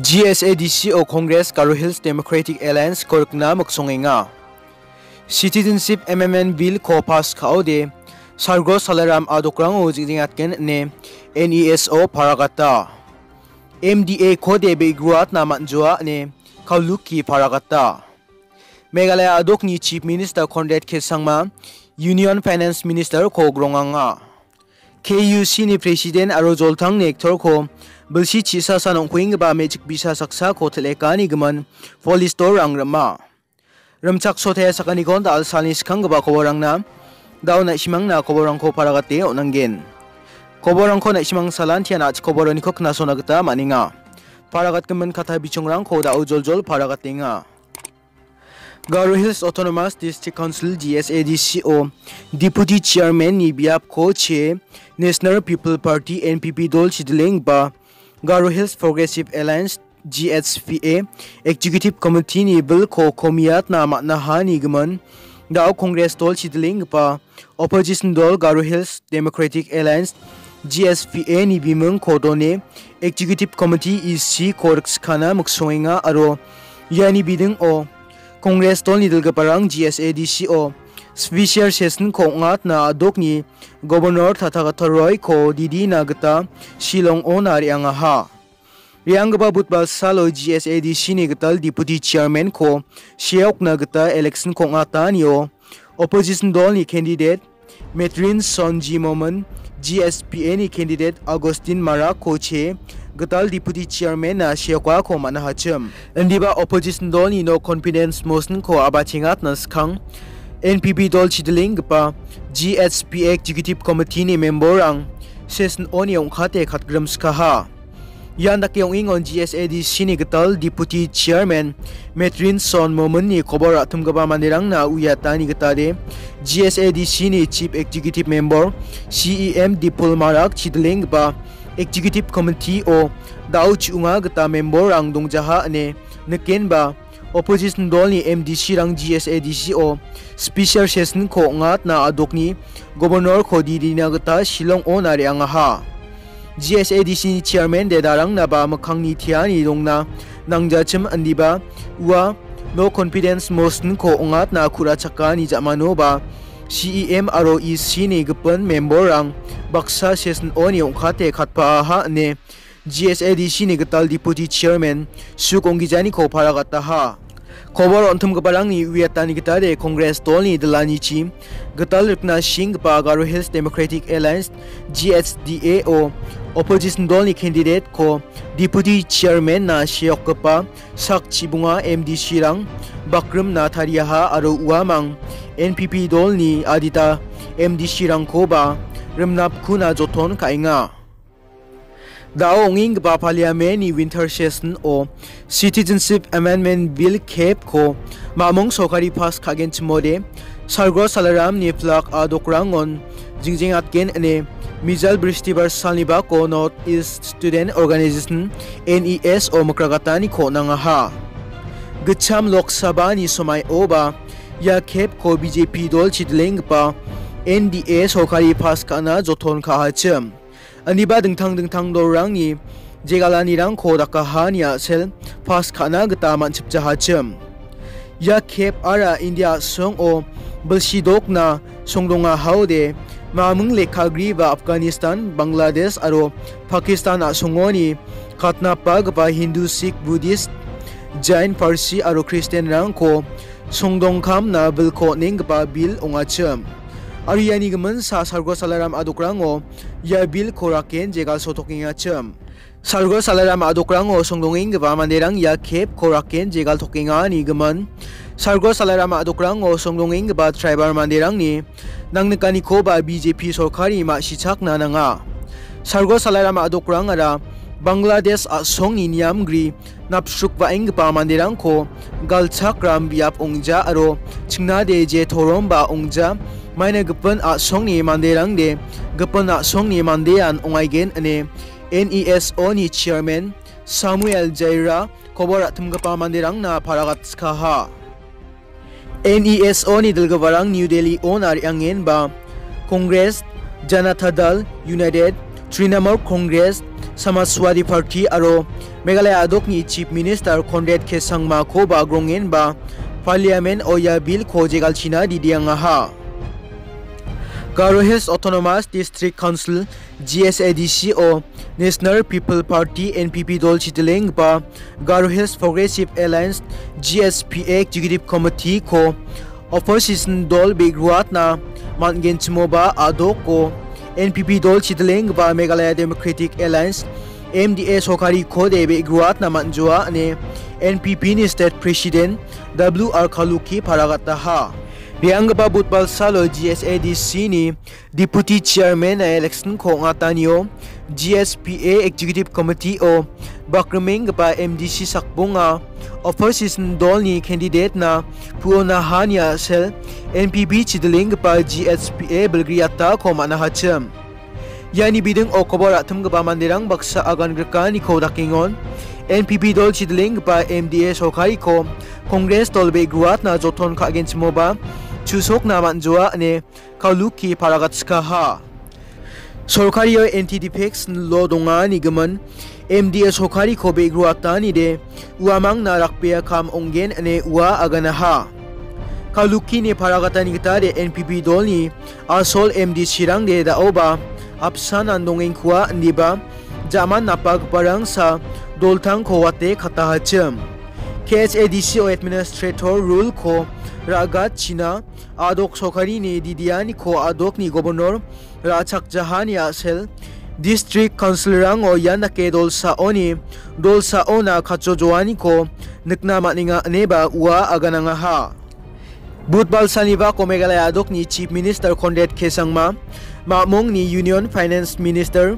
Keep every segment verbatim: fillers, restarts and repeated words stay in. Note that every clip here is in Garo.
G S A D C o Congress Garo Hills Democratic Alliance ko rikna miksongenga. Citizenship Amendment Bill ko pass ka·ode, Sargo Salaram a·dokrango jing·jengatgen ine N E S o paragata. M D A ko de be·gruatna man·joa ine Kauluki paragata. Meghalaya a·dokni Chief Minister Conrad K Sangma, Union Finance Minister ko gronganga. K U C ni President aro Joltangni actor ko bilsi chisasan ong·kuenggipa me·chik bi·sa saksa ko til·ekanigimin police-rang rima. Rimchaksote sakaniko da·al salni skanggipa koborangna da·o na·simangna koborangko paragate on·angen. Koborangko na·simang salantian a·chik koboroniko knasona gita man·enga. Paragatgimin katta bichongrangko da·o joljol paragatenga. Garo Hills Autonomous District Council, G S A D C o Deputy Chairman ni biapko che National People Party, N P P dol chidilenggipa Garo Hills Progressive Alliance, G H P A, Executive Committee ni bilko komiatna man·aha nigimin, da·o Congress dol chidilenggipa opposition dol Garo Hills Democratic Alliance, G H P A ni bimingko done Executive Committee E C ko rikskana miksongenga aro iani bidingo Congress dolni dilgiparang G S A D C o special session ko ong·atna a·dokni Governor Tathagata Roy ko didina gita Shillong-ona re·angaha. Re·anggipa budbal salo G S A D C ni gital Deputy Chairman ko seokna gita election ko ong·atanio opposition dolni candidate Metrin Sonji Momin, G S P A ni candidate Augustine Marak ko che gital Deputy Chairman na seokako man·ahachim. Indiba opposition dolni no confidence motion ko abachengatna skang N P P dol chidilenggipa G H P A Executive Committee ni member-rang session oni ong·kate katgrimskaha. Ian dake ong·engon G S A D C ni gital Deputy Chairman Metrin Son Momin ni kobor ra·timgipa manderangna uiatani gitade G S A D C ni Chief Executive Member C E M Dipul Marak chidilenggipa Executive Committee o da·o chu·onga gita member-rang dongjaha ine nikenba opposition dolni M D C-rang G S A D C o special session ko ong·atna a·dokni Governor ko didina gita Shillong-ona re·angaha. G S A D C ni chairman de darangnaba mikkangni teani dongna nangjachim indiba ua no confidence motion ko ong·atna ku·rachakani ja·manoba C E M aro E C ni gipin member-rang baksa session oni ong·kate katpaaha ine G S A D C ni gital Deputy Chairman Suk Onggijaniko paragataha. Kobor on·timgiparangni uiatani gitade Congress dolni dilanichi gital rikna singgipa Garo Hills Democratic Alliance, G H D A o opposition dolni candidate ko Deputy Chairman na seokgipa sak chibonga M D C-rang bakrimna tariaha aro uamang N P P dolni adita M D C-rangkoba rimnapkuna joton ka·enga. Da·o ong·enggipa Parliament-ni winter session-o Citizenship Amendment Bill kep-ko mamung sorkari pass ka·genchimode Sargo Salaramni pilak a·dokrangon jingjengatgen ine Mijal Bristibar salnibako North East Student Organization, N E S-o mikragataniko nangaha. Gitcham Lok Sabha-ni somaioba ia kep-ko B J P dol chidilenggipa N D A sorkari pass ka·na joton ka·achim. Indiba dingtang dingtang dolrangni jegalanirangko dakahani a·sel pass ka·na gita man·chipjahachim. Ia kep-ara India a·songo bilsidokna songdongahaode, mamung lekkagriba Afghanistan, Bangladesh aro Pakistan a·songoni katnapagipa Hindu, Sikh, Buddhist, Jain, Parsi aro Kristianrangko songdongkamna bilko on·enggipa bil ong·achim. Aro iani giminsa Sargo Salaram a·dokrango ia bilko raken jegal sotokengachim. Sargo Salaram a·dokrango songdongenggipa manderang ia kep-ko raken jegal tokengani gimin. Sargo Salaram a·dokrango songdongenggipa tribal manderangni nangnikanikoba B J P sorkari ma·sichakna nanga. Sargo Salaram a·dokrangara Bangladesh a·songni niamgri napsruk va·enggipa manderangko galchakram biap ong·ja aro chingnade je toromba ong·ja, maina gipin a·songni manderangde gipin a·songni mandean ong·aigen ine N E S O-ni chairman Samuel Jaira kobor ra·timgipa manderangna paragatskaha. N E S O-ni dilgiparang New Delhi-ona re·angenba Congress, Janata Dal, United, Trinamool Congress, Samajwadi Party aro Meghalaya a·dokni Chief Minister Conrad K Sangmakoba grongenba Parliament-o ia bill-ko jegalchina didiangaha. Garo Hills Autonomous District Council, G S A D C-o National People Party, N P P dol chidilenggipa Garo Hills Progressive Alliance, G S P A Executive Committee-ko opposition dol be·gruatna man·genchimoba a·dokko N P P dol chidilenggipa Meghalaya Democratic Alliance, M D A sorkarikode be·gruatna man·joa ine N P P-ni State President W R Kaluki paragataha. Re·anggipa Budbalsalo G S A D C-ni Deputy Chairman-na election-ko ong·atanio G S P A Executive Committee-o bakrimenggipa M D C sakbonga opposition dolni candidate-na Puonahani a·sel N P P chidilenggipa G S P A bilgriatako man·ahachim. Iani bidingo kobor ra·timgipa manderang baksa agan grikaniko dakengon, N P P dol chidilenggipa M D A sorkariko Congress dol be·gruatna joton ka·genchimoba chusokna man·joa ine Kaluki paragatskaha. Sorkario anti-defection law donganigimin M D A sorkariko be·gruatanide uamangna rakbea kam ong·gen ine ua aganaha. Kalukini paragatani gitade N P P dolni asol M D C-rangde da·oba apsanan dongengkua indiba ja·man napagiparangsa doltangko wate katahachim. K H A D C-o administrator rule-ko ra·gatchina a·dok sorkarini didianiko a·dokni gobernor ra·chakjahani a·sel district council-rango ian dake dolsaoni, dolsaona katchojoaniko nikna man·enga ineba ua aganangaha. Budbalsani bako Meghalaya a·dokni Chief Minister Conrad K Sangma, Ma·mongni Union Finance Minister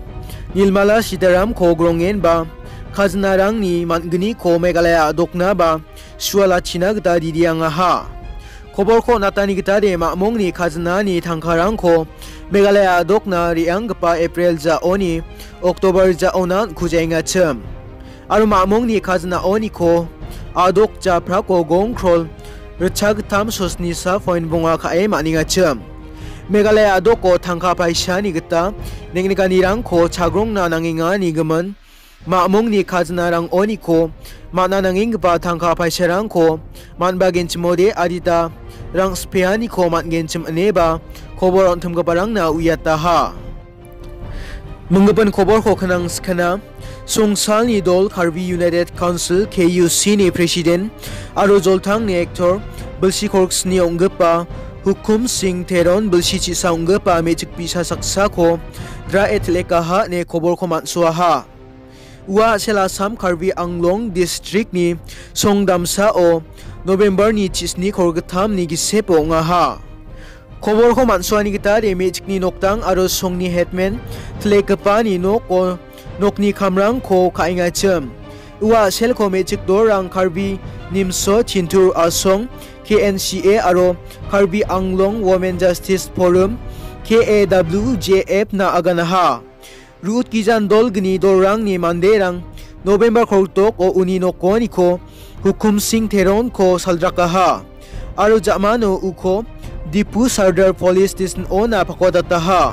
Nirmala Sitharaman-ko grongenba kajinarangni man·gniko Meghalaya a·doknaba sualachina gita didiangaha. Koborko on·atani gitade Ma·mongni kajinani tangkarangko Meghalaya a·dokna re·anggipa April ja·oni October ja·ona on·kujaengachim. Aro Ma·mongni kajinaoniko a·dok japrako gongkrol ritchagittam sosnisa point bonga ka·e man·engachim. Meghalaya a·doko tangka paisani gita neng·nikanirangko chagrongna nangengani gimin Ma·mongni kajinarangoniko man·a nangenggipa tangka paisarangko man·bagenchimode adita rangspeaniko man·genchim ineba kobor on·timgiparangna uiataha. Minggipin koborko knang skana, Songsalni dol Karbi United Council, K U C-ni President aro Joltangni actor, bilsi korksni ong·gipa Hukum Singh Theron bilsi chisa ong·gipa me·chik bi·sa saksako dra·e til·ekaha ine koborko man·soaha. Ua a·sel Assam Karbi Anglong districtni song damsao November-ni chisni kolgittamni gisepo ong·aha. Koborko man·soani gita de me·chikni nokdang aro songni hetmen til·ekgipani noko nokni kamrangko ka·engachim. Ua a·selko me·chik dorang Karbi Nimso Chintur Asong, K N C A, aro Karbi Anglong Women Justice Forum, K A W J F-na aganaha. Ru·utgijan dol gni dolrangni manderang November kolgitoko uni nokoniko Hukum Singh Theronko saldrakaha. Aro ja·mano uko Dipu Sardar Police Station-ona pakodataha.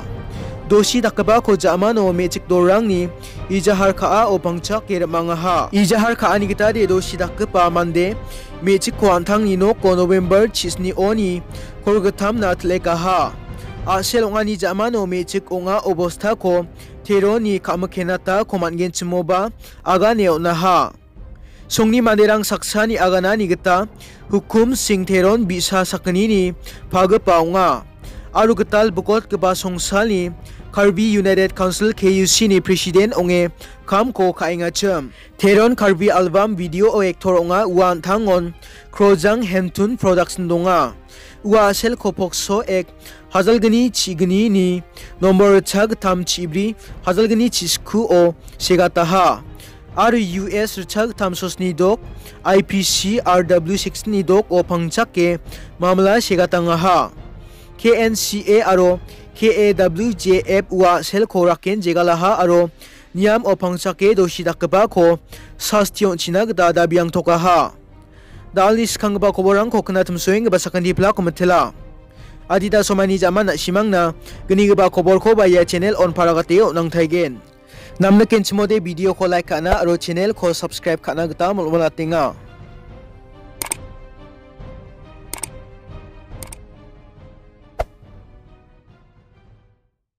Dosi dakgipako ja·mano me·chik dolrangni ijahar ka·ao pangchake rim·angaha. Ijahar ka·ani gitade dosi dakgipa mande me·chikko an·tangni noko November chisni-oni kolgittamna til·ekaha. A·sel ong·ani ja·mano me·chik ong·a obostako Teroni ka·mikenatako man·genchimoba agane on·aha. Songni manderang saksani aganani gita Hukum Singh Teron bi·sa sakgnini pagipa ong·a. Aro gital bikotgipa songsalni Karbi United Council, K U C-ni president ong·e kamko ka·engachim. Teron Karbi album video-o actor ong·a, ua an·tangon Krojang Hemtun Production donga. Ua a·selko Pokso Act hajalgni chignini nombor ritchagittam chibri hajalgni chiskuo segataha. Aro U S ritchagittam sosni dok, I P C R W sixteen-ni dok-o pangchake mamla segatangaha. K N C A aro K A W J F ua a·selko raken jegalaha aro niamo pangchake dosi dakgipako sasti ong·china gita dabiangtokaha. Dalni skanggipa koborrangko knatimsoenggipa sakanti plako mitela. Adita somaini ja·man na·simangna gnigipa koborkoba ia channel on·paragateo nangtaigen. Namnikenchimode video-ko like ka·na aro channel-ko subscribe ka·na gita molmolatenga.